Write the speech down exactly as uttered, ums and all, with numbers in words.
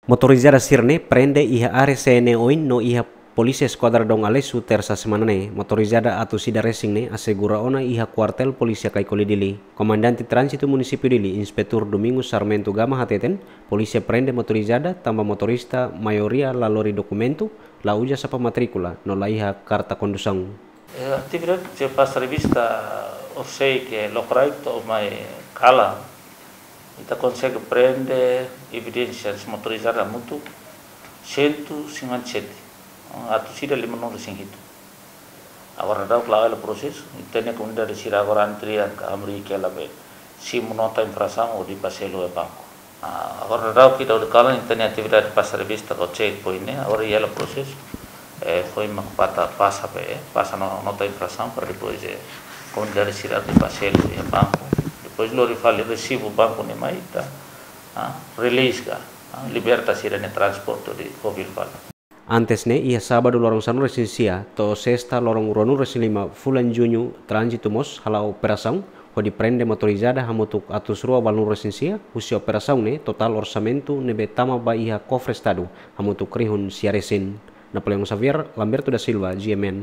Motorizada sira-ne'e prende iha área C N E oin no iha Polísia Eskuadra Dom Aleixo, Tersa semana ne'e. Motorizada atus ida resin ne'e asegura ona iha Kuartél Polísia Caicoli, Dili. Komandante Tránzitu Munisípiu Dili, Inspetór Domingos Sarmento Gama hateten, polísia prende motorizada tanba motorista maioria la lori dokumentu, la uza sapa matríkula, no la iha karta kondusaun. Eh, atividade de pasa revista, orsida ke lokraik to'o mai kalan, ita konsege prende evidénsias motorizada hamutuk cento cinquenta e sete, atus ida limanulu resin hitu. Agora daudaun la'o hela prosesu, ita-nia komunidade sira agora antrian ka hamriik hela be simu nota infrasaun hodi bá selu iha banku. Ah, agora daudaun ke daudaun kalan ita-nia atividade pasa revista ho checkpoint ne'e, agora iha hela prosesu. Eh, foin mak pata pasa be, eh, pasa no, nota infrasaun para depois, eh, komunidade sira hodi bá selu iha banku. Depois lori fali resibu banku ne'e mai ita, ah, release ka, ah, liberta sira-nia transporte hodi fó fila fali. Antes ne'e, iha sábadu loron sanulu resin sia to'o sesta loron ruanulu resin lima fulan Juñu, Tránzitu mós hala'o operasaun hodi prende motorizada hamutuk atus rua ualunulu resin sia, husi operasaun ne'e totál orsamentu ne'ebé tama ba iha kofre Estadu hamutuk rihun sia resin. Napoleão Xavier, Lamberto da Silva, G M N.